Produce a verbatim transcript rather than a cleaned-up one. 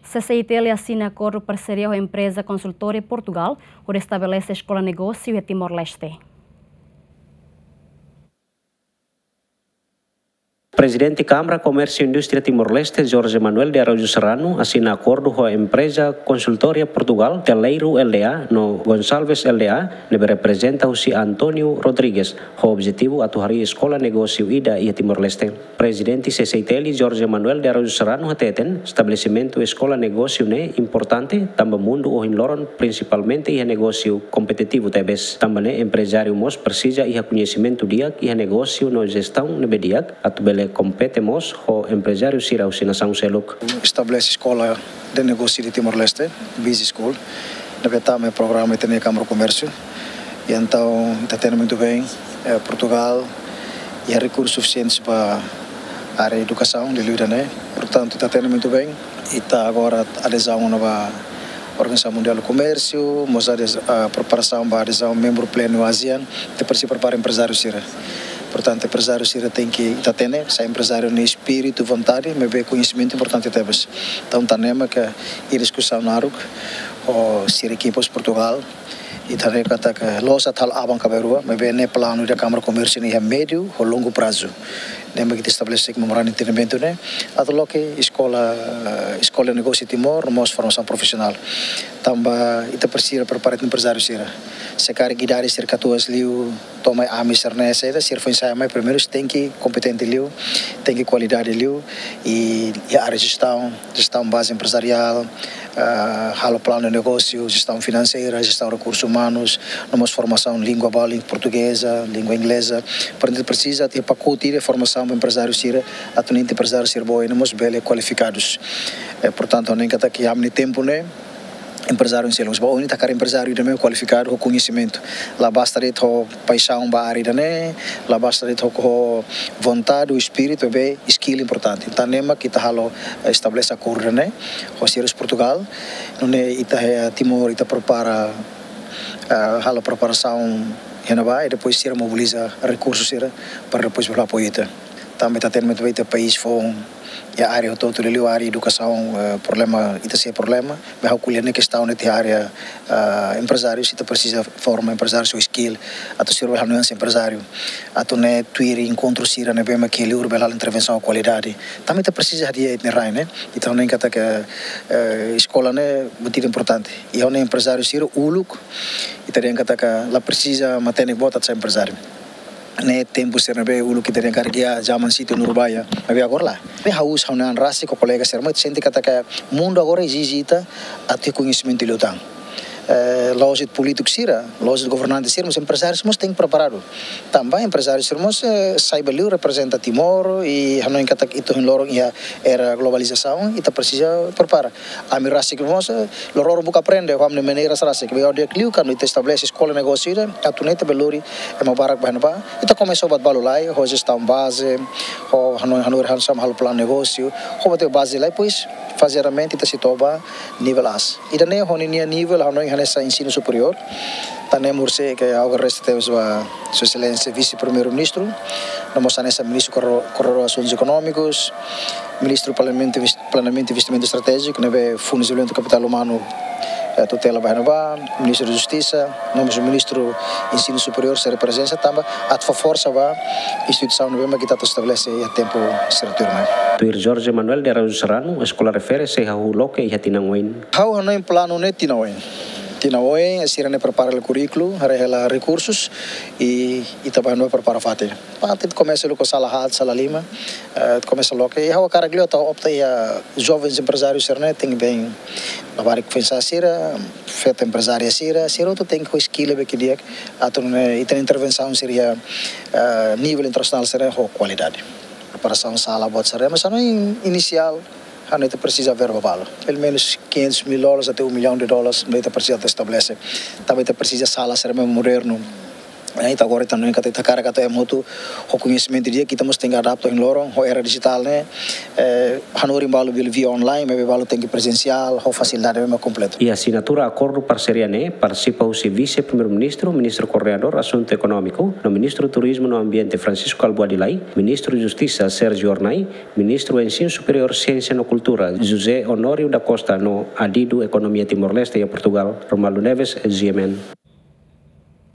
C C I T L asina akordu parseria ho empreza konsultoria Portugal, hodi estabelese eskola negósiu iha Timor-Leste. Prezidente Kámara Komérsiu Indústria Timor-Leste, Jorge Manuel de Araújo Serrano, asina akordu ho empreza konsultoria Portugal, Teleiro L D A, no Gonçalves L D A, ne'ebé reprezenta husi António Rodrigues, ho objetivu atu harii eskola negósiu ida iha Timor-Leste. Prezidente C C I T L, Jorge Manuel de Araújo Serrano, hateten, estabelesimentu eskola negósiu ne'e importante, tanba mundu ohin loron, prinsipalmente iha negósiu kompetitivu tebes. Tanba ne'e emprezáriu mós presiza iha koñesimentu di'ak iha negósiu no jestaun ne'ebé di'ak, atu bele kompete mós ho emprezáriu sira husi nasaun seluk. Estabelese eskola de negósiu iha Timor-Leste, Busy School, ne'ebé tama iha programa ita-nia Kámara Komérsiu. I entaun, ita hatene muito bem, eh, Portugal iha rekursu sufisiente ba área edukasaun, liuliu ida-ne'e. Portantu, ita hatene muito bem, ita agora adezaun ona ba Organizasaun Mundiál do Komérsiu, mós adez-, ah, preparasaun ba adezaun membru plenu ASEAN, ita presiza prepara emprezáriu sira. Portantu, emprezáriu sira tenke, ita hatene, sai emprezáriu nia espíritu, vontade, maibé koñesimentu importante tebes. Entaun, ita hatene katak iha diskusaun naruk ho sira ekipa husi Portugal, ita hatene katak la'ós atu halo aban-bainrua, maibé ne'e planu ida Kámara Komérsiu nian iha médiu ho longu prazu. Ne'e mak ita estabelese memorandu entendimentu ne'e, atu loke eskola, eskola negósiu Timor, no mós formasaun profisionál. Tanba ita presiza prepara emprezáriu sira. Se karik idade sira katuas liu, to'o mai ami sira-ne'e, sira, sira foin sai mai, primeiru sira tenke kompetente liu, tenke kualidade liu, i, i área jestaun, jestaun baze emprezariál, ah, halo planu negósiu, jestaun finanseira, jestaun rekursus umanus, no mós formasaun língua bali-, portugeza, língua ingleza. Portantu, presiza iha pakote de formasaun ba emprezáriu sira, atu nune'e emprezáriu sira boot, no mós bele kualifikadus. Eh, portantu, ha'u hanoin katak iha ami-nia tempu ne'e, emprezáriu seluk, ba ohin ita hakarak emprezáriu ida ne'ebé kualifikadu ho koñesimentu. La basta de'it ho paixaun ba área ida-ne'e, la basta de'it ho, ho vontade, espíritu, maibé skill importante. Entaun ne'e mak ita halo, eh, estabelese akordu ne'e ho sira husi Portugal. Nune'e ita iha Timor, ita prepara, eh, halo preparasaun iha ne'ebá, i depois sira mobiliza rekursu sira para depois bele apoiu ita. Tanba ita hatene muito bem, ita país foun iha área hotu-hotu, liuliu área edukasaun, eh, problema, ita sei problema. Maibé ha'u ko'alia ne'e kestaun ne'e iha área, ah, emprezáriu, ita presiza forma emprezáriu ho skill, atu sira bele halo nuansa emprezáriu, atu nune'e tuir enkontru sira ne'ebé mak iha liur bele halo intervensaun kualidade. Tanba ita presiza hadi'a ita-nia rai ne'e, entaun ha'u hanoin katak, eh, eskola ne'e buat ida importante. I ha'u hanoin emprezáriu sira uluk, ita dehan katak la presiza matenek boot atu sai emprezáriu. Ne'e tempu sira ne'ebé uluk ita dehan karik iha zaman sítio Nurbaya, maibé agora lae. Ne'e ha'u, ha'u-nia an rasik ho kolega sira mós sente katak mundu agora ezije ita atu iha koñesimentu liután. Eh, la'ós de'it polítiku sira, la'ós de'it governante sira, mas emprezáriu mós tenke preparadu. Tanba emprezáriu sira mós, eh, sai ba liur reprezenta Timor, i ha'u hanoin katak ita ohin loron iha era globalizasaun, ita presiza prepara. Ami rasik mós, eh, loroloron buka aprende, ho ami-nia maneiras rasik. Maibé ha'u dehan liu kuandu ita estabelese eskola negósiu ida, atu nune'e ita bele lori ema barak ba iha ne'ebá. Ita komesa ho buat balu lai, ho jestaun baze, ho hanoin, hanoin, hanoin, halo planu negósiu, ho buat baze lai, depois, fazeadamente ita sei to'o ba nivel aas. Ida-ne'e ho ninia nivel, ha'u hanoin hanesan ensinu superiór. Entaun ne'e mak ohin ha'u agradese tebes ba Sua Exelénsia Vise-Primeiru-Ministru, no mós hanesan Ministru Koordenadór, Koordenadór Asuntus Ekonómikus, Ministru Planeamentu, Planeamentu i Investimentu Estratéjiku, ne'ebé Fundu Dezenvolvimentu Kapitál Umanu, eh, tutela ba iha ne'ebá, Ministru Justisa, no mós Ministru Ensinu Superiór sira prezensa, tanba atu fó forsa ba instituisaun ne'ebé mak ita atu estabelese iha tempu sira tuirmai. Tuir Jorge Manuel de Araújo Serrano, eskola refere sei hahú loke iha tinan oin. Ha'u hanoin planu ne'e tinan oin. Tinan oin, sira ne'e prepara hela kurríkulu, haree hela rekursus, i ita bá hanoin prepara fatin. Parte komesa uluk ho sala haat, sala lima, eh, komesa loke. I ha'u hakarak liu atu opta iha jovens emprezáriu sira-ne'e, tenke bem labarik foin-sa'e sira, feto emprezária sira, sira hotu tenke ho skill ne'ebé di'ak, atu nune'e ita-nia intervensaun sira iha, eh, nivel internasionál sira ho kualidade. Preparasaun sala buat sira, mas ha'u hanoin inisiál, ha'u hanoin ita presiza verba balu. Pelumenus quinhentos mil dólares até um milhão de dólares, ne'ebé ita presiza atu estabelese. Tanba ita presiza sala sira ne'ebé modernu. Ita agora ita no ita hakarak atu ema hotu ho koñesimentu di'ak, ita mós tenke adapta ohin loron ho era dijitál ne'e, hanorin balu bele via online, maibé balu tenke prezensiál ho fasilidade ne'ebé kompletu. Iha asinatura akordu parseria ne'e partisipa husi Vise-Primeiru-Ministru, Ministru Koordenadór Asuntu Ekonómiku no Ministru Turizmu no Ambiente Francisco Albuady Lay, Ministru Justisa Sérgio Hornai, Ministru Ensinu Superiór, Siénsia no Kultura José Honório da Costa no Adidu Ekonomia Timor-Leste iha Portugál, Romualdo Neves, G M N.